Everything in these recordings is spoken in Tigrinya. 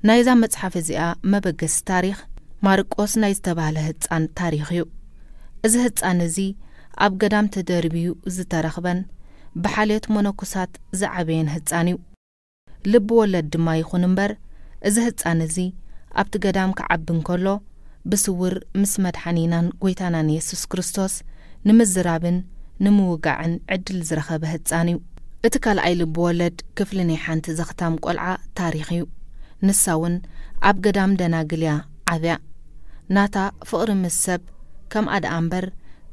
ናይዛ መጽሓፍ እዚኣ መበገሲ ታሪኽ ማርቆስ ናይ ዝተባህለ ህጻን ታሪኽ እዩ። እዚ ህጻን እዚ ኣብ ገዳም ተደርብዩ ዝተረኽበን ብሓልዮት መነኮሳት ዝዓበየን ህጻን እዩ። ልቢ ወለድ ድማ ይኹን እምበር፣ እዚ ህጻን እዚ ኣብቲ ገዳም ክዓቢ እንከሎ፣ ብስውር ምስ መድሓኒናን ጎይታናን የሱስ ክርስቶስ ንምዝራብን ንምውጋዕን ዕድል ዝረኸበ ህጻን እዩ። እቲ ካልኣይ ልቢ ወለድ ክፍሊ ናይ ሓንቲ ዘኽታም ቆልዓ ታሪኽ እዩ። ንሳ እውን ኣብ ገዳም ደናግል እያ ዓብያ። ናታ ፍቕሪ ምስ ሰብ ከምኣ ደኣ እምበር፣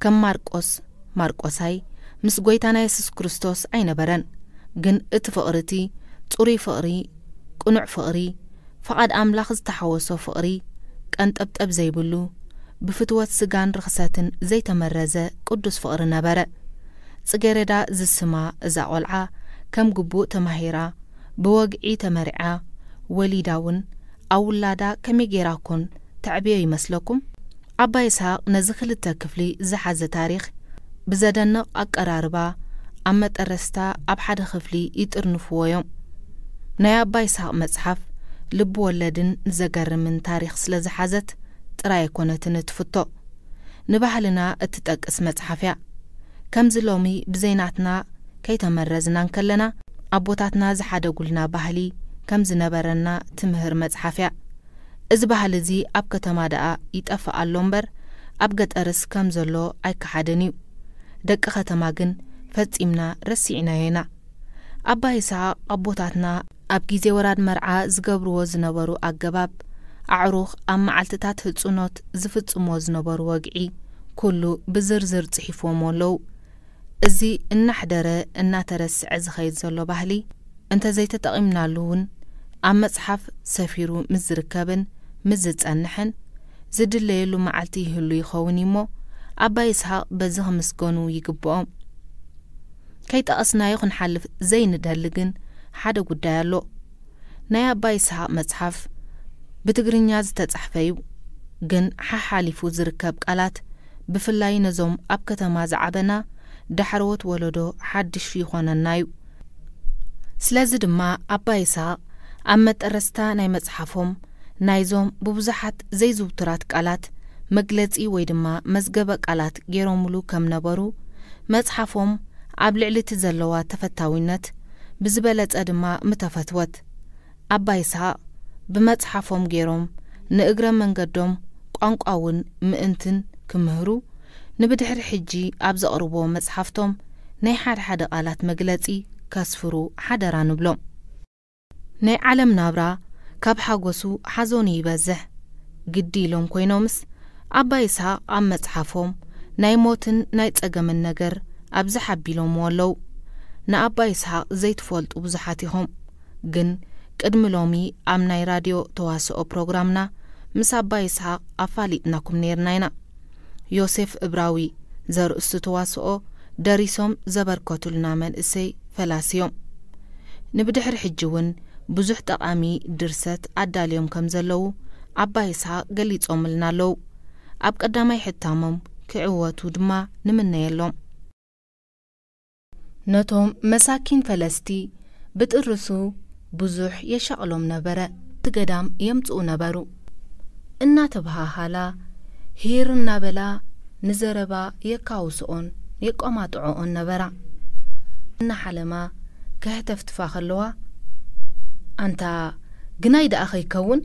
ከም ማርቆስ፣ ማርቆሳይ፣ ምስ ጎይታና የሱስ ክርስቶስ ኣይነበረን። ግን እቲ ፍቕሪ እቲ ጽሩይ ፍቕሪ፣ ቅኑዕ ፍቕሪ፣ ፍቓድ ኣምላኽ ዝተሓወሶ ፍቕሪ፣ ቀንጠብጠብ ዘይብሉ፣ ብፍትወት ስጋን ርኽሰትን ዘይተመረዘ ቅዱስ ፍቕሪ ነበረ። ጽጌረዳ ዝስማ እዛ ቆልዓ ከም ግቡእ ተማሂራ፣ ብወግዒ ተመርዓ፣ ወሊዳ እውን ኣብ ውላዳ ከመይ ጌራ ኮን ተዕብዮ ይመስለኩም? ኣባ ይስሐቅ ነዚ ክልተ ክፍሊ ዝሓዘ ታሪኽ ብዘደንቕ ኣቀራርባ ኣብ መጠረስታ ኣብ ሓደ ክፍሊ ይጥርንፍዎ እዮም። ናይ ኣባ ይስሐቅ መጽሓፍ ልቢ ወለድን ዘገርምን ታሪኽ ስለ ዝሓዘት ጥራይ ኣይኮነትን እትፍቶ። ንባህልና እትጠቅስ መጽሓፍ እያ። ከምዚ ሎሚ ብዘይናትና ከይተመረዝና እንከለና፣ ኣቦታትና ዝሓደጉልና ባህሊ ከም ዝነበረና ትምህር መጽሓፍ እያ። እዚ ባህሊ እዚ ኣብ ከተማ ደኣ ይጠፍእ ኣሎ እምበር፣ ኣብ ገጠርስ ከም ዘሎ ኣይከሓድን እዩ። ደቂ ከተማ ግን ፈጺምና ረሲዕናዮ ኢና። ኣባ ይስሐቅ ኣቦታትና ኣብ ግዜ ወራድ መርዓ ዝገብርዎ ዝነበሩ ኣገባብ፣ ኣዕሩኽ ኣብ መዓልትታት ህጹኖት ዝፍጽምዎ ዝነበሩ ወግዒ፣ ኩሉ ብዝርዝር ጽሒፍዎም ኣለዉ። እዚ እናሕደረ እናተረስዐ ዝኸይድ ዘሎ ባህሊ፣ እንተ ዘይተጠቒምናሉ እውን፣ ኣብ መጽሓፍ ሰፊሩ ምስ ዝርከብን ምስ ዝጸንሕን፣ ዝድለየሉ መዓልቲ ይህሉ ይኸውን እዩሞ፣ ኣባ ይስሐቅ በዚ ክምስገኑ ይግብኦም። ከይጠቐስናዮ ክንሓልፍ ዘይንደሊ ግን ሓደ ጉዳይ ኣሎ። ናይ ኣባ ይስሐቅ መጽሓፍ ብትግርኛ ዝተጻሕፈ እዩ፣ ግን ሓሓሊፉ ዝርከብ ቃላት፣ ብፍላይ ነዞም ኣብ ከተማ ዝዓበና ዳሕረዎት ወለዶ ሓድሽ ይኾነና እዩ። ስለዚ ድማ ኣባ ይስሐቅ ኣብ መጠረስታ ናይ መጽሓፎም ናይዞም ብብዙሓት ዘይዝውቱራት ቃላት መግለጺ ወይ ድማ መዝገበ ቃላት ገይሮምሉ ከም ነበሩ፣ መጽሓፎም ኣብ ልዕሊ እቲ ዘለዋ ተፈታዊነት ብዝበለጸ ድማ ምተፈትወት። ኣባ ይስሐቅ ብመጽሓፎም ገይሮም ንእግረ መንገዶም ቋንቋ እውን ምእንትን ክምህሩ፣ ንብድሕሪ ሕጂ ኣብ ዘቕርብዎ መጽሓፍቶም ናይ ሓደ ሓደ ቃላት መግለጺ ከስፍሩ ሓደራ ንብሎም። ናይ ዓለም ናብራ ካብ ሓጎሱ ሓዘኑ ይበዝሕ። ግዲ ኢሎም ኮይኖምስ፣ ኣባ ይስሐቅ ኣብ መጽሓፎም ናይ ሞትን ናይ ጸገምን ነገር ኣብዚ ሓቢሎምዎ ኣለዉ። ንኣባ ይስሐቅ ዘይትፈልጡ ብዙሓት ኢኹም። ግን ቅድሚ ሎሚ ኣብ ናይ ራድዮ ተዋስኦ ፕሮግራምና ምስ ኣባ ይስሐቅ ኣፋሊጥናኩም ነይርና ኢና። ዮሴፍ እብራዊ ዘርእስቱ ተዋስኦ ደሪሶም ዘበርከቱልና መንእሰይ ፈላሲ እዮም። ንብድሕሪ ሕጂ እውን ብዙሕ ጠቓሚ ድርሰት ኣዳልዮም ከም ዘለዉ ኣባ ይስሐቅ ገሊጾምልና ኣለዉ። ኣብ ቀዳማይ ሕታሞም ክዕወቱ ድማ ንምነየሎም። ነቶም መሳኪን ፈለስቲ ብጥርሱ ብዙሕ የሻቕሎም ነበረ። እቲ ገዳም የምጽኡ ነበሩ። እናተበሃሃላ፣ ሂር እናበላ ንዘረባ የካውስኦን የቋማጥዖኦን ነበራ። እናሓለማ ከህተፍትፋ ከለዋ፣ ኣንታ ግናይ ደኣ ከይከውን?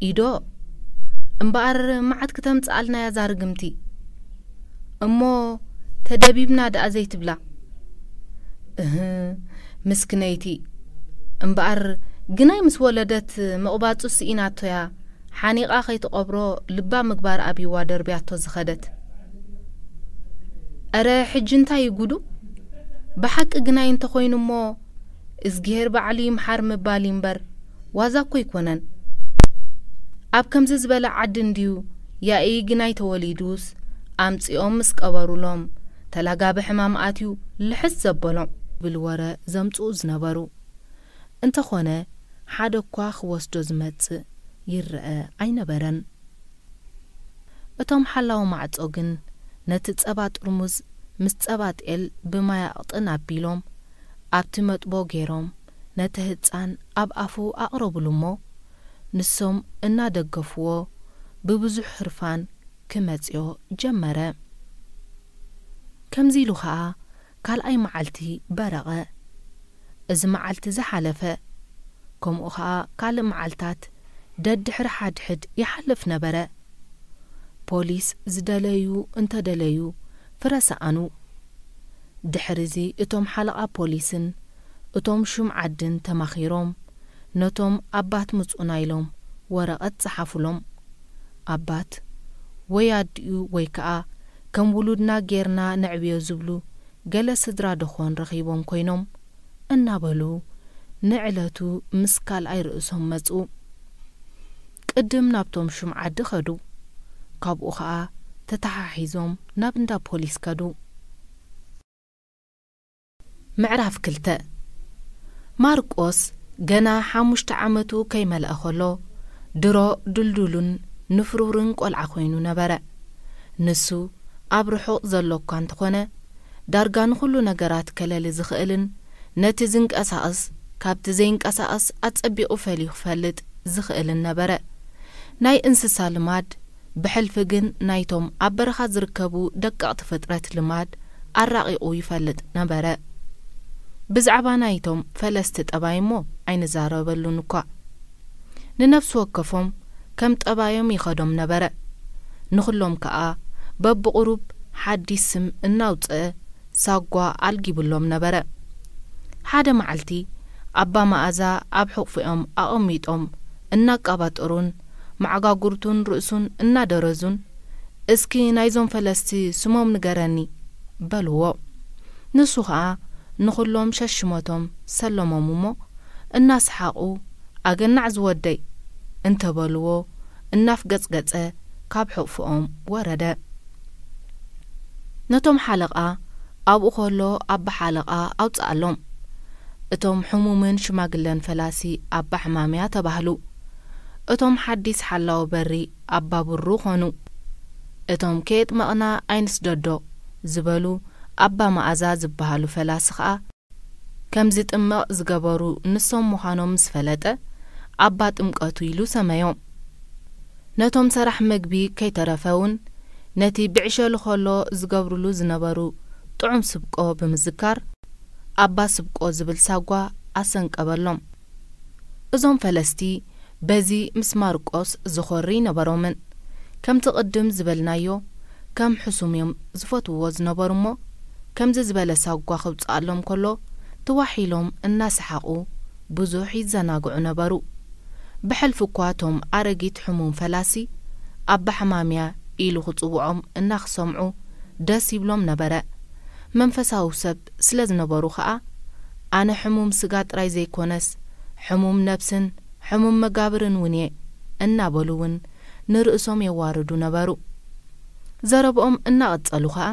ኢዶ፣ እምበኣር መዓት ክተምጽኣልና እያ እዛ ርግምቲ። እሞ ተደቢብና ደኣ ዘይትብላ? እህ፣ ምስክነይቲ። እምበኣር ግናይ ምስ ወለደት ምቕባጹ ስኢናቶ እያ። ሓኒቓ ከይትቐብሮ ልባ ምግባር ኣብይዋ ደርብያቶ ዝኸደት። እረ ሕጂ እንታይ እዩ ጉዱ? ብሓቂ ግናይ እንተኾይኑ እሞ እዝግሄር ባዕሉ ይምሓር ምባል እዩ እምበር ዋዛ እኮ ኣይኮነን። ኣብ ከምዚ ዝበለ ዓዲ እንድዩ ያኢ ግናይ ተወሊዱስ ኣምጺኦም ምስ ቀበሩሎም ተላጋቢ ሕማም ኣትዩ ልሕስ ዘበሎም ብል ወረ ዘምጽኡ ዝነበሩ። እንተኾነ ሓደ እኳ ክወስዶ ዝመጽእ ይረአ ኣይነበረን። እቶም ሓላዊ ማዕጾ ግን ነቲ ጸባ ጥርሙዝ ምስ ጸባ ጤል ብማይ ኣቕጥን ኣቢሎም ኣብቲ መጥቦ ገይሮም ነቲ ህጻን ኣብ ኣፉ ኣቕረቡሉ እሞ ንሶም እናደገፍዎ ብብዙሕ ህርፋን ክመጽዮ ጀመረ። ከምዚ ኢሉ ኸኣ ካልኣይ መዓልቲ በረቐ። እዚ መዓልቲ ዝሓለፈ፣ ከምኡ ኸኣ ካልእ መዓልታት ደድሕሪ ሓድሕድ ይሓልፍ ነበረ። ፖሊስ ዝደለዩ እንተደለዩ ፍረ ሰኣኑ። ድሕሪዚ እቶም ሓለቓ ፖሊስን እቶም ሹም ዓድን ተማኺሮም ነቶም ኣባት ምጹና ኢሎም ወረቐት ጸሓፉሎም። ኣባት ወይ ኣዲኡ ወይ ከኣ ከም ውሉድና ጌርና ነዕብዮ ዝብሉ ገለ ስድራ ደኾን ረኺቦም ኮይኖም እናበሉ ንዕለቱ ምስ ካልኣይ ርእሶም መጹ። ቅድም ናብቶም ሹም ዓዲ ኸዱ። ካብኡ ኸኣ ተተሓሒዞም ናብ እንዳ ፖሊስ ከዱ። ምዕራፍ ክልተ። ማርቆስ ገና ሓሙሽተ ዓመቱ ከይመልአ ኸሎ ድሮ ድልዱልን ንፍሩርን ቆልዓ ኮይኑ ነበረ። ንሱ ኣብ ርሑቕ ዘሎ እኳ እንተኾነ ዳርጋ ንኹሉ ነገራት ከለሊ ዝኽእልን ነቲ ዝንቀሳቐስ ካብቲ ዘይንቀሳቐስ ኣጸቢቑ ፈልዩ ክፈልጥ ዝኽእልን ነበረ። ናይ እንስሳ ልማድ ብሕልፊ ግን ናይቶም ኣብ በረኻ ዝርከቡ ደቀቕቲ ፍጥረት ልማድ ኣራቒቑ ይፈልጥ ነበረ። ብዛዕባ ናይቶም ፈለስቲ ጠባይ እሞ ኣይንዛረበሉን እኳ። ንነፍሲ ወከፎም ከም ጠባዮም ይኸዶም ነበረ። ንኹሎም ከኣ በብቑሩብ ሓዲስ ስም እናውጽአ ሳጓ ኣልጊብሎም ነበረ። ሓደ መዓልቲ ኣባ መኣዛ ኣብ ሕቑፎኦም ኣቐሚጦም እናቃባጠሩን መዓጋጉርቱን ርእሱን እናደረዙን፣ "እስኪ ናይዞም ፈለስቲ ስሞም ንገረኒ" በልዎ። ንሱ ኸኣ ንኹሎም ሸሽመቶም ሰለሞም እሞ እናሰሓቑ፣ "ኣገናዕ ዝወደይ" እንተበልዎ እናፍገጽገጸ ካብ ሕቑፎኦም ወረደ። ነቶም ሓለቓ ኣብኡ ኸሎ ኣባ ሓለቓ ኣውጽኣሎም። እቶም ሕሙምን ሽማግለን ፈላሲ ኣባ ሕማምያ ተባህሉ። እቶም ሓዲስ ሓላዊ በሪ ኣባ ብሩ ኾኑ። እቶም ከየጥመቕና ኣይንስደዶ ዝበሉ ኣባ መኣዛ ዝበሃሉ ፈላሲ ኸኣ ከም ዝጥመቕ ዝገበሩ ንሶም ምዃኖም ምስ ፈለጠ ኣባ ጥምቀቱ ኢሉ ሰመዮም። ነቶም ሰራሕ መግቢ ከይተረፈ እውን ነቲ ብዕሸሉ ኸሎ ዝገብሩሉ ዝነበሩ ጥዑም ስብቆ ብምዝካር ኣባ ስብቆ ዝብል ሳጓ ኣሰንቀበሎም። እዞም ፈለስቲ በዚ ምስ ማርቆስ ዝኾሪ ነበሮምን። ከምቲ ቅድም ዝበልናዮ ከም ሕሱም እዮም ዝፈትውዎ ዝነበሩ እሞ ከምዚ ዝበለ ሳጓ ክውጽኣሎም ከሎ ትዋሕ ኢሎም እናሰሓቑ ብዙሕ ይዘናግዑ ነበሩ። ብሕልፊ እኳ እቶም ኣረጊት ሕሙም ፈላሲ ኣባ ሕማምያ ኢሉ ክጽውዖም እናኽሰምዑ ደስ ይብሎም ነበረ። መንፈሳዊ ሰብ ስለ ዝነበሩ ኸኣ ኣነ ሕሙም ስጋ ጥራይ ዘይኮነስ ሕሙም ነብስን ሕሙም መጋብርን እውን እየ እናበሉ እውን ንርእሶም የዋርዱ ነበሩ። ዘረብኦም እናቐጸሉ ኸኣ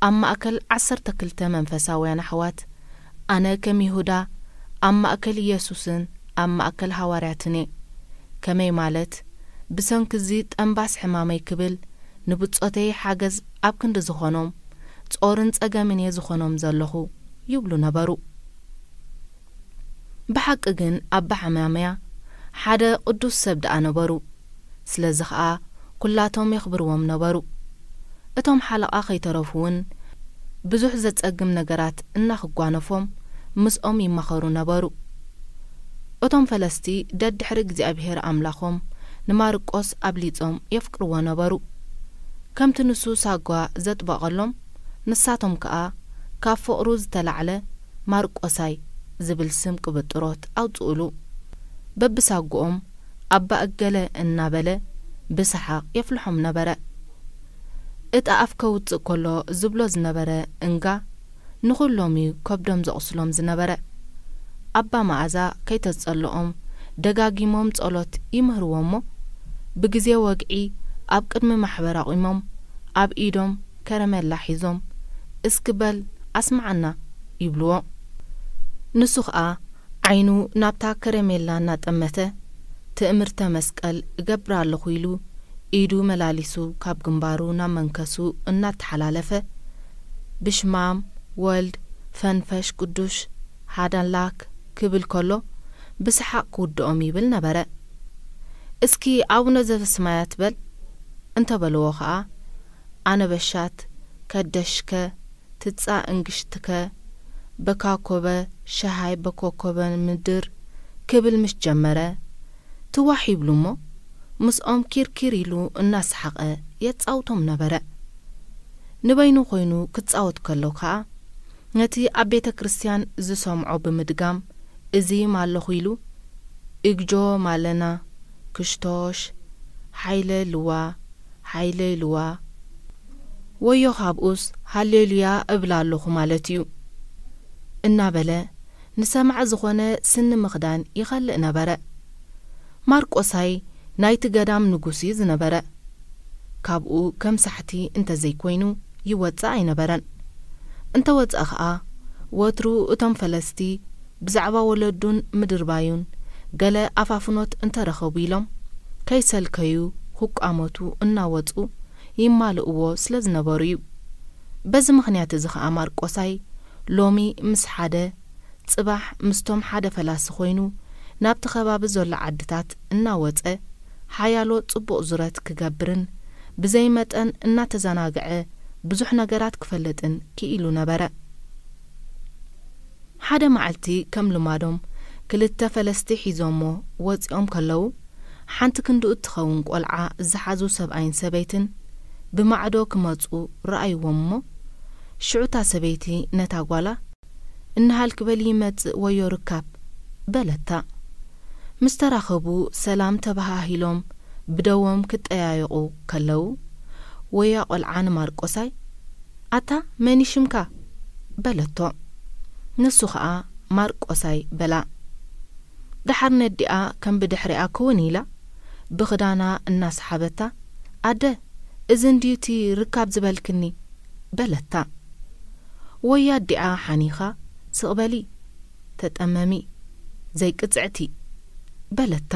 ኣብ ማእከል ዓሰርተ ክልተ መንፈሳውያን ኣሕዋት ኣነ ከም ይሁዳ ኣብ ማእከል ኢየሱስን ኣብ ማእከል ሃዋርያትን እየ። ከመይ ማለት ብሰንኪ እዚ ጠንባስ ሕማመይ ክብል ንብጾተይ ሓገዝ ኣብ ክንዲ ዝኾኖም ጾርን ጸገምን እየ ዝኾኖም ዘለኹ ይብሉ ነበሩ። ብሓቂ ግን ኣባ ሕማምያ ሓደ ቅዱስ ሰብ ደኣ ነበሩ። ስለዚ ኸኣ ኩላቶም የኽብርዎም ነበሩ። እቶም ሓለቓ ከይተረፉ እውን ብዙሕ ዘጸግም ነገራት እናኽጓነፎም ምስኦም ይማኸሩ ነበሩ። እቶም ፈለስቲ ደድሕሪ እግዚኣብሔር ኣምላኾም ንማርቆስ ኣብሊጾም የፍቅርዎ ነበሩ። ከምቲ ንሱ ሳጓ ዘጥበቐሎም ንሳቶም ከኣ ካብ ፍቕሩ ዝተላዕለ ማርቆሳይ ዝብል ስም ቅብጥሮት ኣውጽኡሉ። በብሳጉኦም ኣባ እገለ እናበለ ብሰሓቕ የፍልሖም ነበረ። እጣ ኣፍ ከውጽእ ከሎ ዝብሎ ዝነበረ እንጋ ንኹሎም እዩ ከብዶም ዘቑስሎም ዝነበረ። ኣባ መኣዛ ከይተጸልኦም ደጋጊሞም ጸሎት ይምህርዎ እሞ ብግዜ ወግዒ ኣብ ቅድሚ ማሕበር ኣቑሞም ኣብ ኢዶም ከረሜላ ሒዞም እስኪ በል ኣስምዓና ይብልዎ። ንሱ ኸኣ ዓይኑ ናብታ ከረሜላ እናጠመተ ትእምርተ መስቀል እገብር ኣለኹ ኢሉ ኢዱ መላሊሱ ካብ ግንባሩ ናብ መንከሱ እናተሓላለፈ ብሽማም ወልድ ፈንፈሽ ቅዱሽ ሃዳላክ ክብል ከሎ ብሰሓቕ ክውድኦም ይብል ነበረ። እስኪ ኣቡነ ዘበሰማያት በል እንተበልዎ ኸኣ፣ ኣነበሻት፣ ከደሽከ፣ ትጻ እንግሽትከ፣ በካኮበ ሸሃይ በኮኮበ ምድር ክብል ምስ ጀመረ፣ ትዋሕ ይብሉ እሞ፣ ምስኦም ኪርኪር ኢሉ እናሰሓቐ የጻውቶም ነበረ። ንበይኑ ኮይኑ ክጻወት ከሎ ከኣ፣ ነቲ ኣብ ቤተ ክርስቲያን ዝሰምዖ ብምድጋም፣ እዚም ኣለኹ ኢሉ፣ እግጆ ማለና፣ ክሽቶሽ፣ ሓይለ ልዋ፣ ሓይለ ልዋ፣ ወዮ ካብኡስ ሃሌሉያ እብል ኣለኹ ማለት እዩ እናበለ ንሰማዒ ዝኾነ ስኒ ምኽዳን ይኸልእ ነበረ። ማርቆሳይ ናይቲ ገዳም ንጉስ እዩ ዝነበረ። ካብኡ ከም ሳሕቲ እንተዘይኮይኑ ይወጽእ ኣይነበረን። እንተወጸ ኸኣ ወትሩ እቶም ፈለስቲ ብዛዕባ ወለዱን ምድርባዩን ገለ ኣፋፍኖት እንተረኸቡ ኢሎም ከይሰልከዩ ክቋመቱ እናወጹ ይማልእዎ ስለ ዝነበሩ እዩ። በዚ ምኽንያት እዚ ኸኣ ማርቆሳይ ሎሚ ምስ ሓደ ጽባሕ ምስቶም ሓደ ፈላሲ ኮይኑ ናብቲ ከባቢ ዘሎ ዓድታት እናወጸ ሓያሎ ጽቡቕ ዙረት ክገብርን ብዘይ መጠን እናተዘናግዐ ብዙሕ ነገራት ክፈልጥን ክኢሉ ነበረ። ሓደ መዓልቲ ከም ልማዶም ክልተ ፈለስቲ ሒዞሞ ወጺኦም ከለዉ፣ ሓንቲ ክንድኡ እትኸውን ቆልዓ ዝሓዙ ሰብኣይን ሰበይትን ብማዕዶ ክመጹ ረኣይዎም እሞ፣ ሽዑ እታ ሰበይቲ ነታ ጓላ፣ "እንሃልክ በሊ ይመጽእ ወዮ ርካብ" በለታ። ምስ ተራኸቡ ሰላም ተበሃሂሎም ብደዎም ክጠያየቑ ከለዉ፣ ወያ ቆልዓ ንማርቆሳይ፣ "ኣታ መን እዩ ሽምካ?" በለቶ። ንሱ ኸኣ ማርቆሳይ በላ። ደሓር ነዲኣ ከም ብድሕሪኣ ክውን ኢላ ብኽዳና እናሰሓበታ፣ "ኣደ፣ እዚ እንድዩ እቲ ርካብ ዝበልክኒ?" በለታ። ወይ ኣዲኣ ሓኒኻ፣ "ስቕ በሊ፣ ተጠመሚ፣ ዘይቅጽዕቲ" በለታ።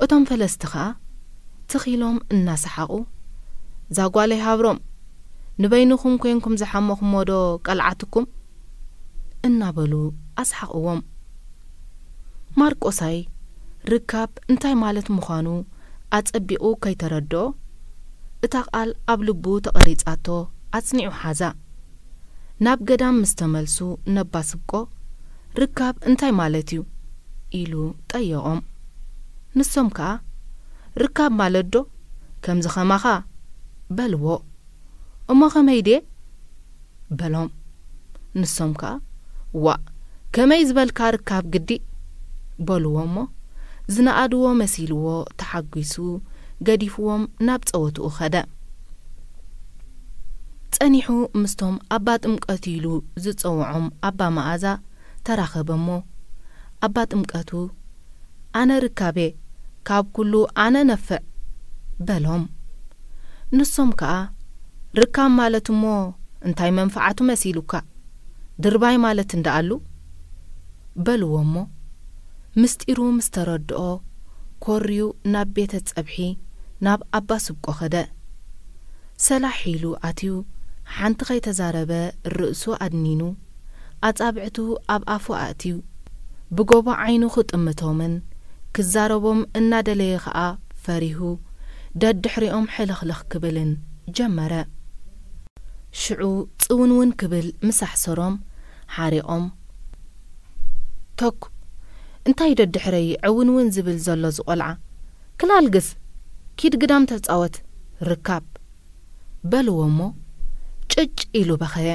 እቶም ፈለስቲ ኸኣ ትኽ ኢሎም እናሰሓቑ፣ "እዛ ጓለይ ሃብሮም፣ ንበይንኹም ኮንኩም ዝሓመኹሞ ዶ ቀልዓትኩም?" እናበሉ ኣስሓቕዎም። ማርቆሳይ ርካብ እንታይ ማለት ምዃኑ ኣጸቢቑ ከይተረድኦ፣ እታ ቃል ኣብ ልቡ ተቐሪጻቶ ኣጽኒዑ ሓዛ። ናብ ገዳም ምስ ተመልሱ ነባ ስብቆ፣ "ርካብ እንታይ ማለት እዩ?" ኢሉ ጠየቖም። ንሶም ከኣ፣ "ርካብ ማለት ዶ ከምዚ ኸማኻ?" በልዎ። "እሞ ኸመይ ድየ?" በሎም። ንሶም ከኣ፣ "ዋእ፣ ከመይ ዝበልካ ርካብ ግዲ?" በልዎ እሞ፣ ዝነኣድዎ መሲልዎ ተሓጒሱ ገዲፍዎም ናብ ጸወትኡ ኸደ። ጸኒሑ ምስቶም ኣባ ጥምቀት ኢሉ ዝጸውዖም ኣባ መኣዛ ተራኸበ እሞ፣ ኣባ ጥምቀቱ፣ "ኣነ ርካቤ፣ ካብ ኩሉ ኣነ ነፍዕ" በሎም። ንሶም ከኣ፣ "ርካብ ማለት እሞ እንታይ መንፍዓቱ መሲሉካ? ድርባይ ማለት እንደኣሉ?" በልዎ እሞ፣ ምስጢሩ ምስ ተረድኦ፣ ኮርዩ ናብ ቤተ ጸብሒ ናብ ኣባ ስብቆ ኸደ። ሰላሕ ኢሉ ኣትዩ፣ ሓንቲ ኸይተዛረበ ርእሱ ኣድኒኑ፣ ኣጻብዕቱ ኣብ ኣፉ ኣእትዩ፣ ብጎቦ ዓይኑ ክጥምቶምን ክዛረቦም እናደለየ ኸኣ ፈሪሁ፣ ደድሕሪኦም ሕልኽልኽ ክብልን ጀመረ። ሽዑ ጽውንውን ክብል ምስ ኣሕሰሮም፣ ሓሪቖም፣ "ተኩ፣ እንታይ ደድሕረይ ዕውንውን ዝብል ዘሎ ዝቖልዓ? ክላልግስ፣ ኪድ ግዳም ተጻወት፣ ርካብ!" በልዎ እሞ፣ ጭጭ ኢሉ በኸየ።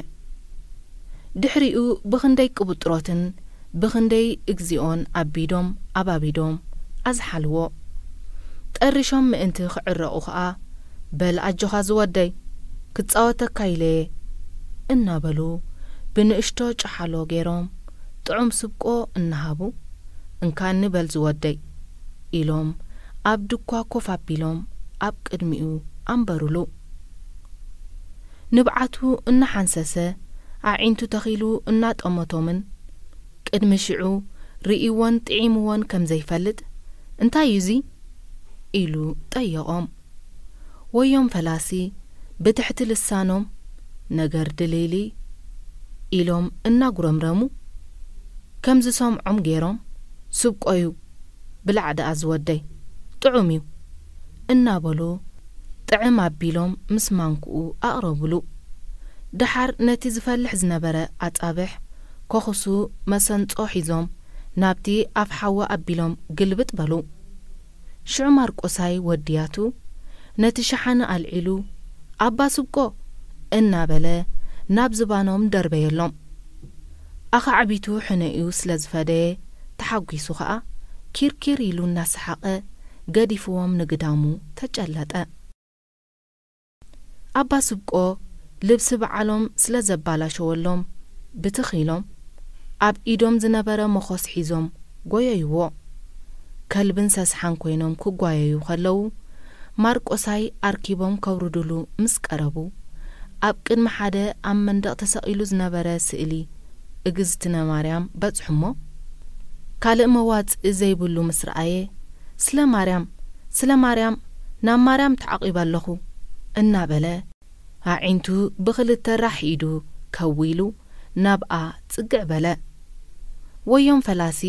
ድሕሪኡ ብኽንደይ ቅብጥሮትን ብኽንደይ እግዚኦን ኣቢዶም ኣባቢዶም ኣዝሓልዎ። ጠሪሾም ምእንቲ ክዕረቑ ኸኣ፣ "በል ኣጆኻ ዝወደይ፣ ክጻወተካ ኢለየ" እናበሉ ብንእሽቶ ጨሓሎ ገይሮም ጥዑም ስብቆ እናሃቡ፣ "እንካኒ በል ዝወደይ" ኢሎም ኣብ ድኳ ኮፍ ኣቢሎም ኣብ ቅድሚኡ ኣንበሩሉ። ንብዓቱ እናሓንሰሰ ኣዒንቱ ተኺሉ እናጠመቶምን ቅድሚ ሽዑ ርእይዎን ጥዒምዎን ከም ዘይፈልጥ፣ "እንታይ እዩ እዚ?" ኢሉ ጠየቖም። ወዮም ፈላሲ ብትሕቲ ልሳኖም፣ "ነገር ድልይልይ" ኢሎም እናጉረምረሙ፣ ከም ዝሰምዖም ገይሮም፣ "ስብቆዩ፣ ብላዕ ደኣ ዝወደይ" ጥዑም እዩ እናበሉ ጥዕም ኣቢሎም ምስ ማንክኡ ኣቕረብሉ። ደሓር ነቲ ዝፈልሕ ዝነበረ ኣጻብሕ ኮኹሱ መሰንጾ ሒዞም ናብቲ ኣፍ ሓዊ ኣቢሎም ግልብጥ በሉ። ሽዑ ማርቆሳይ ወድያቱ ነቲ ሸሓኒ ኣልዒሉ፣ "ኣባ ስብቆ!" እናበለ ናብ ዝባኖም ደርበየሎም። ኣኻዕቢቱ ሕነኡ ስለ ዝፈደየ ተሓጒሱ ኸኣ ኪርኪር ኢሉ እናሰሓቐ ገዲፍዎም ንግዳሙ ተጨለጠ። ኣባ ስብቆ ልብሲ በዓሎም ስለ ዘባላሸወሎም ብትኽ ኢሎም ኣብ ኢዶም ዝነበረ መኾስ ሒዞም ጎየይዎ። ከልብን ሰስሓን ኮይኖም ክጓየዩ ከለዉ ማርቆሳይ ኣርኪቦም ከውርዱሉ ምስ ቀረቡ ኣብ ቅድሚ ሓደ ኣብ መንደቕ ተሰቒሉ ዝነበረ ስእሊ እግዝእትነ ማርያም በጽሑሞ። ካልእ መዋጽኢ ዘይብሉ ምስ ረኣየ፣ "ስለ ማርያም፣ ስለ ማርያም፣ ናብ ማርያም ተዓቒበ ኣለኹ" እናበለ ኣዒንቱ ብኽልተ ራሕ ኢዱ ከዊሉ ናብኣ ጽግዕ በለ። ወዮም ፈላሲ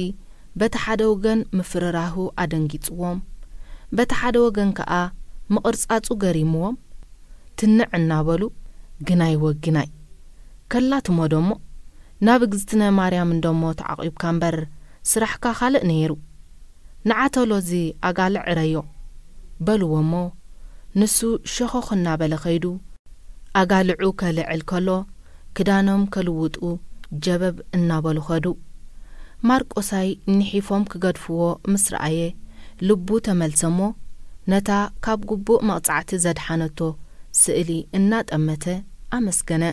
በቲ ሓደ ወገን ምፍርራሁ ኣደንጊጽዎም፣ በቲ ሓደ ወገን ከኣ ምቕርጻጹ ገሪምዎም ትንዕ እናበሉ፣ "ግናይ ወግናይ፣ ከላትሞ ደሞ ናብ እግዝእትነ ማርያም እንደሞ ተዓቒብካ እምበር ስራሕካ ካልእ ነይሩ። ንዓ ቶሎ እዚ ኣጋልዕ ዕረዮ" በልዎ እሞ፣ ንሱ ሸኾኽ እናበለ ከይዱ ኣጋልዑ ከልዕል ከሎ፣ ክዳኖም ከልውጡ ጀበብ እናበሉ ኸዱ። ማርቆሳይ ንሒፎም ክገድፍዎ ምስ ረኣየ፣ ልቡ ተመልሰ እሞ፣ ነታ ካብ ግቡእ መቕጻዕቲ ዘድሓነቶ ስእሊ እናጠመተ ኣመስገነ።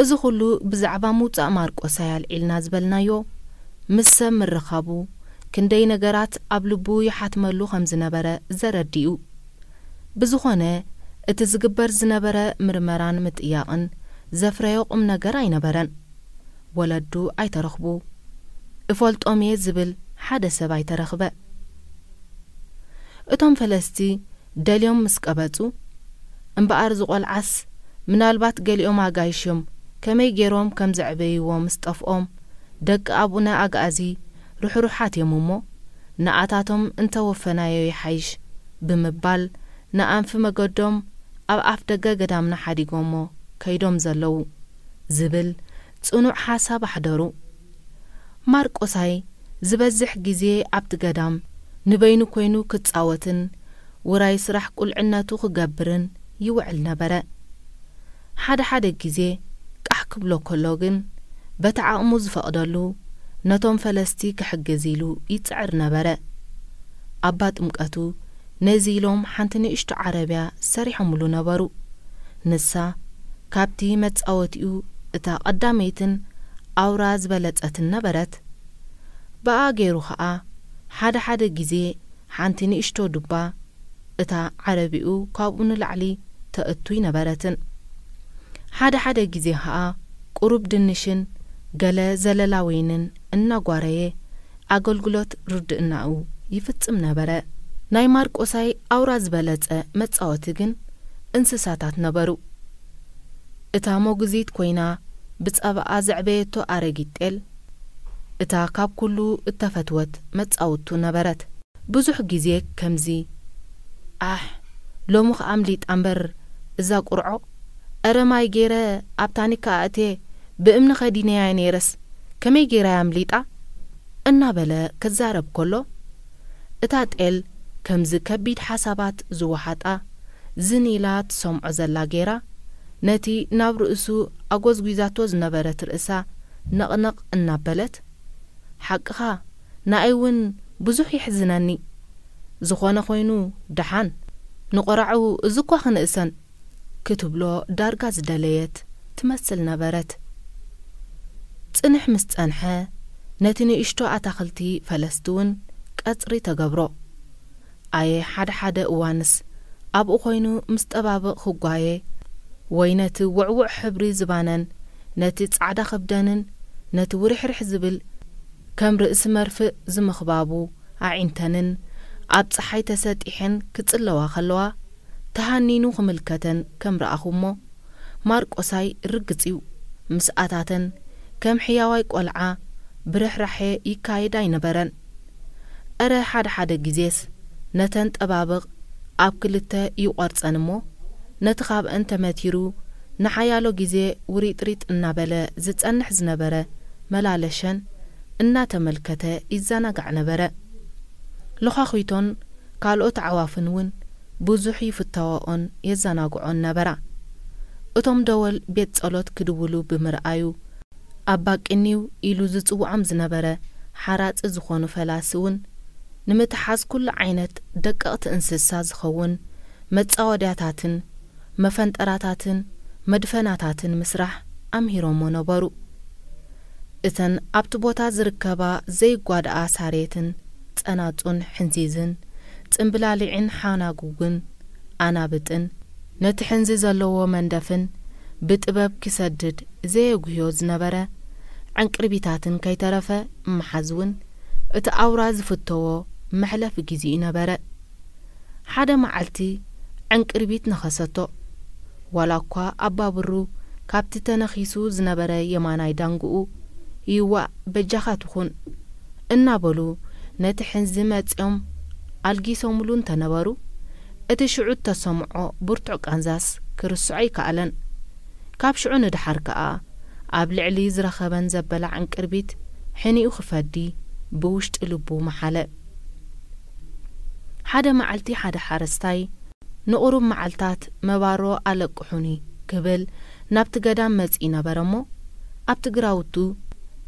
እዚ ኹሉ ብዛዕባ ምውጻእ ማርቆሳይ ኣልዒልና ዝበልናዮ፣ ምስ ሰብ ምርኻቡ ክንደይ ነገራት ኣብ ልቡ ይሓትመሉ ከም ዝነበረ ዘረድእ እዩ። ብዝኾነ፣ እቲ ዝግበር ዝነበረ ምርመራን ምጥያቕን ዘፍረዮ ቁም ነገር ኣይነበረን። ወለዱ ኣይተረኽቡ፣ እፈልጦም እየ ዝብል ሓደ ሰብ ኣይተረኽበ። እቶም ፈለስቲ ደልዮም ምስ ቀበጹ፣ እምበኣር ዝቖልዓስ ምናልባት ገሊኦም ኣጋይሽ እዮም፣ ከመይ ገይሮም ከም ዘዕበይዎ ምስ ጠፍኦም፣ ደቂ ኣቡነ ኣግኣዚ ርሕሩሓት እዮም እሞ፣ ንኣታቶም እንተወፈናዮ ይሓይሽ ብምባል፣ ንኣንፊ መገዶም ኣብ ኣፍ ደገ ገዳምና ሓዲጎሞ ከይዶም ዘለዉ ዝብል ጽኑዕ ሓሳብ ኣሕደሩ። ማርቆሳይ ዝበዝሕ ግዜ ኣብቲ ገዳም ንበይኑ ኮይኑ ክጻወትን ውራይ ስራሕ ቁልዕነቱ ክገብርን ይውዕል ነበረ። ሓደ ሓደ ግዜ ቃሕ ክብሎ ከሎ ግን፣ በቲ ዓቕሙ ዝፈቕደሉ ነቶም ፈለስቲ ክሕግዝ ኢሉ ይጽዕር ነበረ። ኣባ ጥምቀቱ ነዚ ኢሎም ሓንቲ ንእሽቶ ዓረብያ ሰሪሖምሉ ነበሩ። ንሳ ካብቲ መጻወቲኡ እታ ቀዳመይትን ኣውራ ዝበለጸትን ነበረት። ብኣ ገይሩ ኸኣ ሓደ ሓደ ግዜ ሓንቲ ንእሽቶ ዱባ እታ ዓረብኡ ካብኡ ንላዕሊ ተእቱ ኣይነበረትን። ሓደ ሓደ ግዜ ኸኣ ቁሩብ ድንሽን ገለ ዘለላ ወይንን እናጓረየ ኣገልግሎት ርድእናኡ ይፍጽም ነበረ። ናይ ማርቆሳይ ኣውራ ዝበለጸ መጻወቲ ግን እንስሳታት ነበሩ። እታ ሞግዚት ኮይና ብጸባኣ ዘዕበየቶ ኣረጊት ጤል፣ እታ ካብ ኩሉ እተፈትወት መጻውቱ ነበረት። ብዙሕ ግዜ ከምዚ፣ "ኣሕ፣ ሎሚ ኸኣ ኣምሊጣ እምበር እዛ ቁርዖ፣ ኣረ ማይ ገይረ ኣብ ታኒካ ኣእትየ ብእምኒ ኸዲነያ ነይረስ፣ ከመይ ገይራ እያ ኣምሊጣ?" እናበለ ክዛረብ ከሎ፣ እታ ጤል ከምዚ ከቢድ ሓሳባት ዝወሓጣ ዝን ኢላ ትሰምዖ ዘላ ገይራ፣ ነቲ ናብ ርእሱ ኣጎዝጒዛቶ ዝነበረት ርእሳ ነቕነቕ እናበለት፣ "ሓቅኻ፣ ንኣይ እውን ብዙሕ የሕዝነኒ። ዝኾነ ኾይኑ ደሓን፣ ንቆራዑ እዚ እኳ ክንእሰን" ክትብሎ ዳርጋ ዝደለየት ትመስል ነበረት። ጽንሕ ምስ ጸንሐ፣ ነቲ ንእሽቶ ኣታኽልቲ ፈለስቲ እውን ቀጽሪ ተገብሮ። ኣየ ሓደ ሓደ እዋንስ ኣብኡ ኮይኑ ምስ ጠባብቕ ክጓየ፣ ወይ ነቲ ውዕዉዕ ሕብሪ ዝባነን ነቲ ጻዕዳ ከብደንን ነቲ ውርሕርሕ ዝብል ከም ርእሲ መርፍእ ዝምኽባቡ ኣዒንተንን ኣብ ጸሓይ ተሰጢሐን ክጽለዋ ከለዋ፣ ተሃኒኑ ክምልከተን ከም ረኣኹ እሞ፣ ማርቆሳይ ርግጽ እዩ። ምስ ኣታተን ከም ሕያዋይ ቆልዓ ብርሕራሐ ይካየድ ኣይነበረን። እረ ሓደ ሓደ ግዜስ ነተን ጠባብቕ ኣብ ክልተ ይቖርጸን እሞ፣ ነቲ ካብአን ተመቲሩ ንሓያሎ ግዜ ውሪጥሪጥ እናበለ ዝጸንሕ ዝነበረ መላለሸን እናተመልከተ ይዘናጋዕ ነበረ። ሎኻኺቶን ካልኦት ኣዕዋፍን እውን ብዙሕ ይፍተወኦን የዘናግዖን ነበራ። እቶም ደወል ቤት ጸሎት ክድውሉ ብምርኣዩ፣ ኣባ ቅኒው ኢሉ ዝጽውዖም ዝነበረ ሓራጺ ዝኾኑ ፈላሲ እውን፣ ንምትሓዝ ኩሉ ዓይነት ደቀቕቲ እንስሳ ዝኸውን መጻወድያታትን መፈንጠራታትን መድፈናታትን ምስራሕ ኣምሂሮሞ ነበሩ። እተን ኣብቲ ቦታ ዝርከባ ዘይጓድኣ ሳሬትን ጸናጹን ሕንዚዝን ጽምብላሊዕን ሓናጉግን ኣናብጥን፣ ነቲ ሕንዚ ዘለዎ መንደፍን ብጥበብ ክሰድድ ዘየጉህዮ ዝነበረ ዕንቅርቢታትን ከይተረፈ ምሓዝ እውን እቲ ኣውራ ዝፍተዎ መሕለፊ ግዜኡ ነበረ። ሓደ መዓልቲ ዕንቅርቢት ነኸሰቶ። ዋላ እኳ ኣባብሩ ካብቲ ተነኺሱ ዝነበረ የማናይ ዳንግኡ፣ "ይዋእ በጃኻ ትኹን" እናበሉ ነቲ ሕንዚ መጺኦም ኣልጊሶምሉ እንተነበሩ፣ እቲ ሽዑ እተሰምዖ ብርቱዕ ቃንዛስ ክርስዖ ኣይከኣለን። ካብ ሽዑ ንደሓር ከኣ ኣብ ልዕሊ ዝረኸበን ዘበላ ዕንቅርቢት ሕኒኡ ክፈዲ ብውሽጢ ልቡ መሓለ። ሓደ መዓልቲ ሓደ ሓረስታይ ንቑሩብ መዓልታት መባሮ ኣለቅሑኒ ክብል ናብቲ ገዳም መጺኡ ነበረ እሞ፣ ኣብቲ ግራውቱ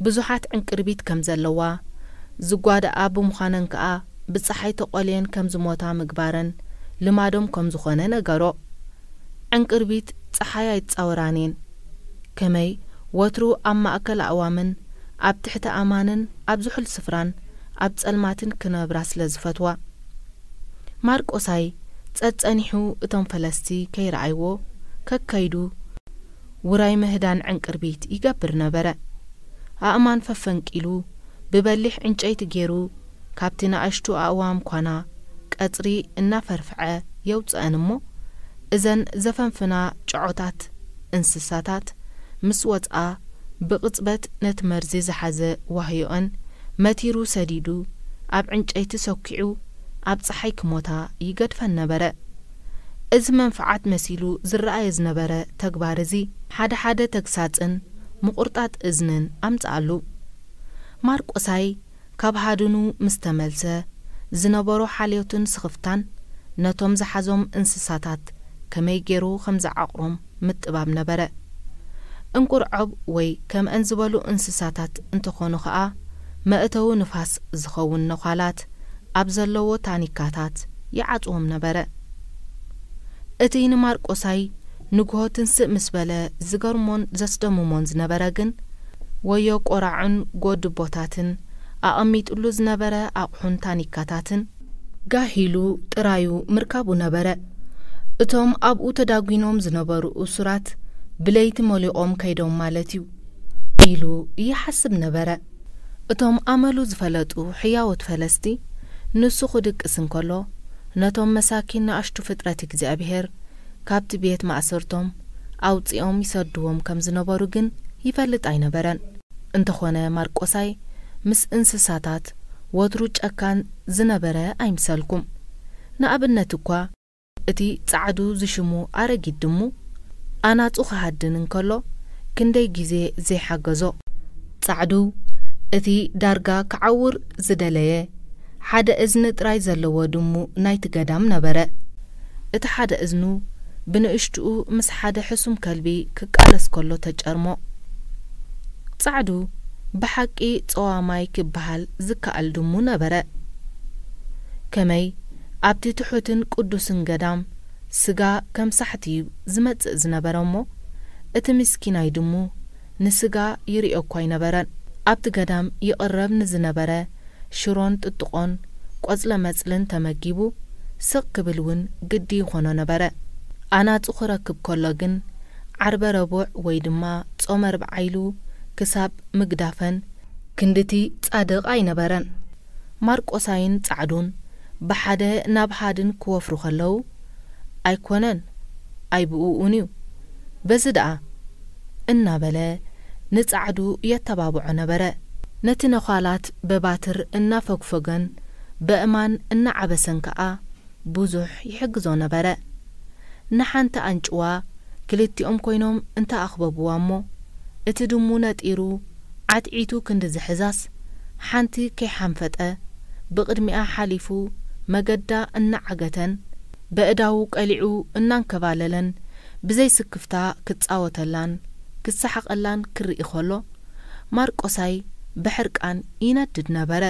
ብዙሓት ዕንቅርቢት ከም ዘለዋ፣ ዝጓድኣ ብምዃነን ከኣ ብጸሓይ ተቖልየን ከም ዝሞታ ምግባረን ልማዶም ከም ዝኾነ ነገሮ። ዕንቅርቢት ጸሓይ ኣይጻወራን እየን። ከመይ ወትሩ ኣብ ማእከል ኣእዋምን ኣብ ትሕቲ ኣማንን ኣብ ዝሑል ስፍራን ኣብ ጸልማትን ክነብራ ስለ ዝፈትዋ። ማርቆሳይ ጸጸኒሑ እቶም ፈለስቲ ከይረኣይዎ ከከይዱ ውራይ ምህዳን ዕንቅርቢት ይገብር ነበረ። ኣእማን ፈፈንቂሉ ብበሊሕ ዕንጨይቲ ገይሩ ካብቲ ንኣሽቱ ኣእዋም ኳና ቀጽሪ እናፈርፍዐ የውጽአን እሞ፣ እዘን ዘፈንፍና ጨዖታት እንስሳታት ምስ ወጽኣ፣ ብቕጽበት ነቲ መርዚ ዝሓዘ ዋህዮአን መቲሩ ሰዲዱ፣ ኣብ ዕንጨይቲ ሰኲዑ ኣብ ጸሓይ ክሞታ ይገድፈን ነበረ። እዚ መንፍዓት መሲሉ ዝረኣየ ዝነበረ ተግባር እዚ፣ ሓደ ሓደ ተግሳጽን ምቑርጣጥ እዝንን ኣምጽኣሉ። ማርቆሳይ ካብ ሃድኑ ምስ ተመልሰ፣ ዝነበሮ ሓልዮትን ስኽፍታን ነቶም ዝሓዞም እንስሳታት ከመይ ገይሩ ከም ዝዓቕሮም ምጥባብ ነበረ። እንቁርዖብ ወይ ከምአን ዝበሉ እንስሳታት እንተኾኑ ኸኣ፣ መእተዊ ንፋስ ዝኸውን ነዃላት ኣብ ዘለዎ ታኒካታት ይዓጽዎም ነበረ። እቲ ንማርቆሳይ ንግሆ ትንስእ ምስ በለ ዝገርሞን ዘስደምሞን ዝነበረ ግን፣ ወዮ ቆራዑን ጎድቦታትን ኣቐሚጥሉ ዝነበረ ኣቕሑን ታኒካታትን ጋሂሉ ጥራዩ ምርካቡ ነበረ። "እቶም ኣብኡ ተዳጒኖም ዝነበሩ እሱራት ብለይቲ ሞሊቖም ከይዶም ማለት እዩ" ኢሉ ይሓስብ ነበረ። እቶም ኣመሉ ዝፈለጡ ሕያዎት ፈለስቲ፣ ንሱ ክድቅስ እንከሎ፣ ነቶም መሳኪን ንኣሽቱ ፍጥረት እግዚኣብሔር ካብቲ ቤት ማእሰርቶም ኣውጺኦም ይሰድዎም ከም ዝነበሩ ግን ይፈልጥ ኣይነበረን። እንተኾነ ማርቆሳይ ምስ እንስሳታት ወትሩ ጨካን ዝነበረ ኣይምሰልኩም። ንኣብነት እኳ እቲ ጻዕዱ ዝሽሙ ኣረጊት ድሙ ኣናጹ ክሃድን እንከሎ ክንደይ ግዜ ዘይሓገዞ። ጻዕዱ እቲ ዳርጋ ክዓውር ዝደለየ ሓደ እዝኒ ጥራይ ዘለዎ ድሙ ናይቲ ገዳም ነበረ። እቲ ሓደ እዝኑ ብንእሽትኡ ምስ ሓደ ሕሱም ከልቢ ክቃለስ ከሎ ተጨርሞ። ጻዕዱ ብሓቂ ጸዋማይ ክበሃል ዝከኣል ድሙ ነበረ። ከመይ ኣብቲ ትሑትን ቅዱስን ገዳም ስጋ ከም ሳሕቲ እዩ ዝመጽእ ዝነበረ እሞ፣ እቲ ምስኪናይ ድሙ ንስጋ ይርእዮ እኳ ኣይነበረን። ኣብቲ ገዳም ይቕረብ ንዝነበረ ሽሮን ጥጥቖን ቆጽለ መጽልን ተመጊቡ ስቕ ክብል እውን ግዲ ይኾኖ ነበረ። ኣናጹ ክረክብ ከሎ ግን ዓርበ ረቡዕ ወይ ድማ ጾመ ርብዓ ኢሉ ክሳብ ምግዳፈን ክንድቲ ጻድቕ ኣይነበረን። ማርቆሳይን ጻዕዱን ብሓደ ናብ ሃድን ክወፍሩ ከለዉ፣ "ኣይኮነን፣ ኣይብኡኡን እዩ፣ በዚ ደኣ" እናበለ ንጻዕዱ የተባብዖ ነበረ። ነቲ ነዃላት በባትር እናፈግፈገን በእማን እናዓበሰን ከኣ ብዙሕ ይሕግዞ ነበረ። ንሓንቲ ኣንጭዋ ክልቲኦም ኮይኖም እንተኣኽበብዋ እሞ፣ እቲ ድሙ ነጢሩ ዓትዒቱ ክንዲ ዝሕዛስ፣ ሓንቲ ከይሓንፈጠ ብቕድሚኣ ሓሊፉ መገዳ እናዓገተን በእዳዉ ቀሊዑ እናንከባለለን ብዘይ ስክፍታ ክጻወተላን ክሰሓቐላን ክርኢ ከሎ፣ ማርቆሳይ ብሕርቃን ይነድድ ነበረ።